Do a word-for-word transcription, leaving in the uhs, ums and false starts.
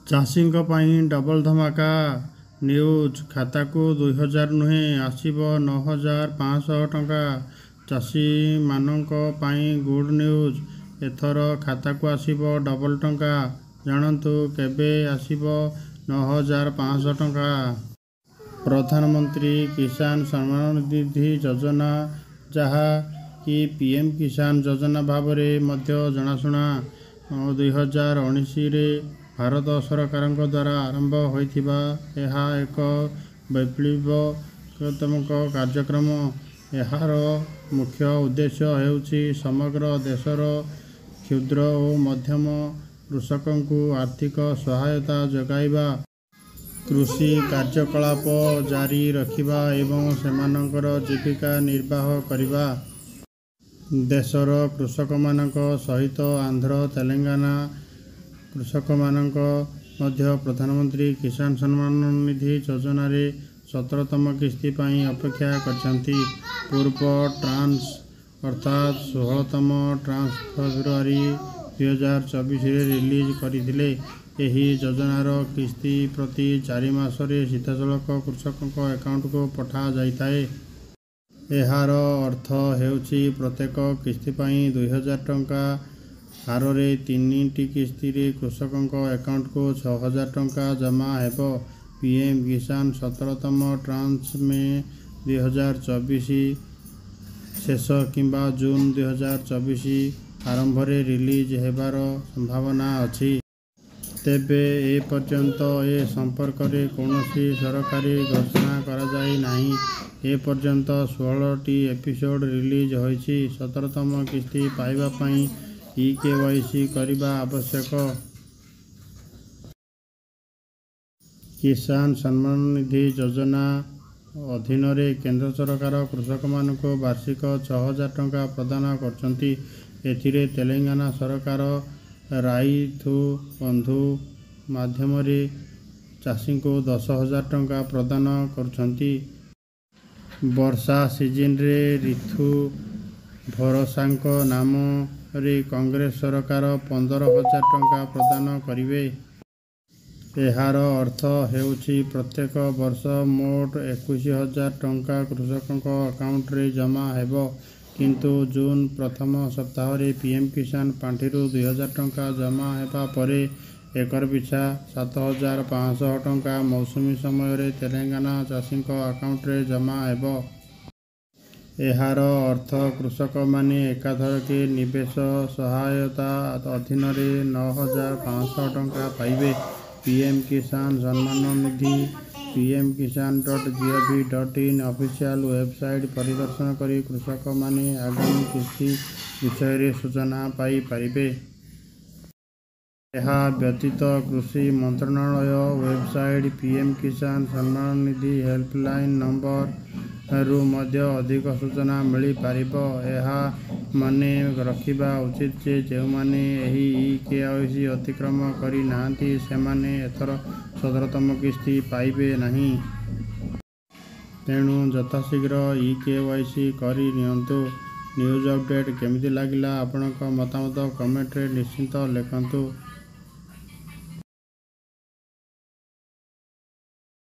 ଚାଷୀଙ୍କ ପାଇଁ double ଧମାକା news, ଖାତାକୁ ଦୁଇ ହଜାର ନୁହେଁ, ଆସିବ ନଅ ହଜାର ପାଞ୍ଚଶହ ଟଙ୍କା। ଚାଷୀମାନଙ୍କ ପାଇଁ ଗୁଡ୍ ନ୍ୟୁଜ୍। ଏଥର ଖାତାକୁ ଆସିବ ଡବଲ ଟଙ୍କା। ଜାଣନ୍ତୁ କେବେ ଆସିବ ନଅ ହଜାର ପାଞ୍ଚଶହ ଟଙ୍କା। ପ୍ରଧାନମନ୍ତ୍ରୀ କିଷାନ ସମ୍ମାନ ନିଧି ଯୋଜନା, ଯାହା କି ପିଏମ୍ କିଷାନ ଯୋଜନା ଭାବରେ ମଧ୍ୟ ଜଣାଶୁଣା, ଦୁଇ ହଜାର ଉଣେଇଶରେ ଭାରତ ସରକାରଙ୍କ ଦ୍ୱାରା ଆରମ୍ଭ ହୋଇଥିବା ଏହା ଏକ ବୈପ୍ଳବତ୍ମକ କାର୍ଯ୍ୟକ୍ରମ। ଏହାର ମୁଖ୍ୟ ଉଦ୍ଦେଶ୍ୟ ହେଉଛି ସମଗ୍ର ଦେଶର କ୍ଷୁଦ୍ର ଓ ମଧ୍ୟମ କୃଷକଙ୍କୁ ଆର୍ଥିକ ସହାୟତା ଯୋଗାଇବା, କୃଷି କାର୍ଯ୍ୟକଳାପ ଜାରି ରଖିବା ଏବଂ ସେମାନଙ୍କର ଜୀବିକା ନିର୍ବାହ କରିବା। ଦେଶର କୃଷକମାନଙ୍କ ସହିତ ଆନ୍ଧ୍ର, ତେଲେଙ୍ଗାନା କୃଷକମାନଙ୍କ ମଧ୍ୟ ପ୍ରଧାନମନ୍ତ୍ରୀ କିଷାନ ସମ୍ମାନ ନିଧି ଯୋଜନାରେ ସତରତମ କିସ୍ତି ପାଇଁ ଅପେକ୍ଷା କରିଛନ୍ତି। ପୂର୍ବ ଟ୍ରାନ୍ସ ଅର୍ଥାତ୍ ଷୋହଳତମ ଟ୍ରାନ୍ସ ଫେବୃଆରୀ ଦୁଇ ହଜାର ଚବିଶରେ ରିଲିଜ୍ କରିଥିଲେ। ଏହି ଯୋଜନାର କିସ୍ତି ପ୍ରତି ଚାରି ମାସରେ ସିଧାସଳଖ କୃଷକଙ୍କ ଆକାଉଣ୍ଟକୁ ପଠାଯାଇଥାଏ। ଏହାର ଅର୍ଥ ହେଉଛି ପ୍ରତ୍ୟେକ କିସ୍ତି ପାଇଁ ଦୁଇ ହଜାର ଟଙ୍କା ହାରରେ ତିନିଟି କିସ୍ତିରେ କୃଷକଙ୍କ ଆକାଉଣ୍ଟକୁ ଛଅ ହଜାର ଟଙ୍କା ଜମା ହେବ। ପିଏମ୍ କିଷାନ ସତରତମ ଟ୍ରାନ୍ସ ମେ ଦୁଇ ହଜାର ଚବିଶ ଶେଷ କିମ୍ବା ଜୁନ୍ ଦୁଇ ହଜାର ଚବିଶ ଆରମ୍ଭରେ ରିଲିଜ୍ ହେବାର ସମ୍ଭାବନା ଅଛି। ତେବେ ଏପର୍ଯ୍ୟନ୍ତ ଏ ସମ୍ପର୍କରେ କୌଣସି ସରକାରୀ ଘୋଷଣା କରାଯାଇ ନାହିଁ। ଏପର୍ଯ୍ୟନ୍ତ ଷୋହଳଟି ଏପିସୋଡ୍ ରିଲିଜ୍ ହୋଇଛି। ସତରତମ କିସ୍ତି ପାଇବା ପାଇଁ ଇ-କେୱାଇସି କରିବା ଆବଶ୍ୟକ। କିଷାନ ସମ୍ମାନ ନିଧି ଯୋଜନା ଅଧୀନରେ କେନ୍ଦ୍ର ସରକାର କୃଷକମାନଙ୍କୁ ବାର୍ଷିକ ଛଅ ହଜାର ଟଙ୍କା ପ୍ରଦାନ କରୁଛନ୍ତି। ଏଥିରେ ତେଲେଙ୍ଗାନା ସରକାର ରାଇଥୁ ବନ୍ଧୁ ମାଧ୍ୟମରେ ଚାଷୀଙ୍କୁ ଦଶ ହଜାର ଟଙ୍କା ପ୍ରଦାନ କରୁଛନ୍ତି। ବର୍ଷା ସିଜିନରେ ରିଥୁ ଭରୋସାଙ୍କ ନାମରେ କଂଗ୍ରେସ ସରକାର ପନ୍ଦର ହଜାର ଟଙ୍କା ପ୍ରଦାନ କରିବେ। ଏହାର ଅର୍ଥ ହେଉଛି ପ୍ରତ୍ୟେକ ବର୍ଷ ମୋଟ ଏକୋଇଶ ହଜାର ଟଙ୍କା କୃଷକଙ୍କ ଆକାଉଣ୍ଟରେ ଜମା ହେବ। କିନ୍ତୁ ଜୁନ୍ ପ୍ରଥମ ସପ୍ତାହରେ ପିଏମ୍ କିଷାନ ପାଣ୍ଠିରୁ ଦୁଇ ହଜାର ଟଙ୍କା ଜମା ହେବା ପରେ ଏକର ପିଛା ସାତ ହଜାର ପାଞ୍ଚଶହ ଟଙ୍କା ମୌସୁମୀ ସମୟରେ ତେଲେଙ୍ଗାନା ଚାଷୀଙ୍କ ଆକାଉଣ୍ଟରେ ଜମା ହେବ। ଏହାର ଅର୍ଥ କୃଷକମାନେ ଏକାଥରକେ ନିବେଶ ସହାୟତା ଅଧୀନରେ ନଅ ହଜାର ପାଞ୍ଚଶହ ଟଙ୍କା ପାଇବେ। PM Kisan Samman Nidhi PM Kisan dot gov dot in official website ପରିଦର୍ଶନ କରି କୃଷକମାନେ ଆଗାମୀ କିସ୍ତି ବିଷୟରେ ସୂଚନା ପାଇପାରିବେ। ଏହା ବ୍ୟତୀତ କୃଷି ମନ୍ତ୍ରଣାଳୟ website, PM Kisan Samman Nidhi helpline ନମ୍ବରରୁ ମଧ୍ୟ ଅଧିକ ସୂଚନା ମିଳିପାରିବ। ଏହା ମନେ ରଖିବା ଉଚିତ ଯେ ଯେଉଁମାନେ ଏହି ଇ-କେୱାଇସି ଅତିକ୍ରମ କରିନାହାଁନ୍ତି, ସେମାନେ ଏଥର ସତରତମ କିସ୍ତି ପାଇବେ ନାହିଁ। ତେଣୁ ଯଥାଶୀଘ୍ର ଇ-କେୱାଇସି କରିନିଅନ୍ତୁ। ନ୍ୟୁଜ୍ ଅପଡେଟ୍ କେମିତି ଲାଗିଲା ଆପଣଙ୍କ ମତାମତ କମେଣ୍ଟରେ ନିଶ୍ଚିତ ଲେଖନ୍ତୁ।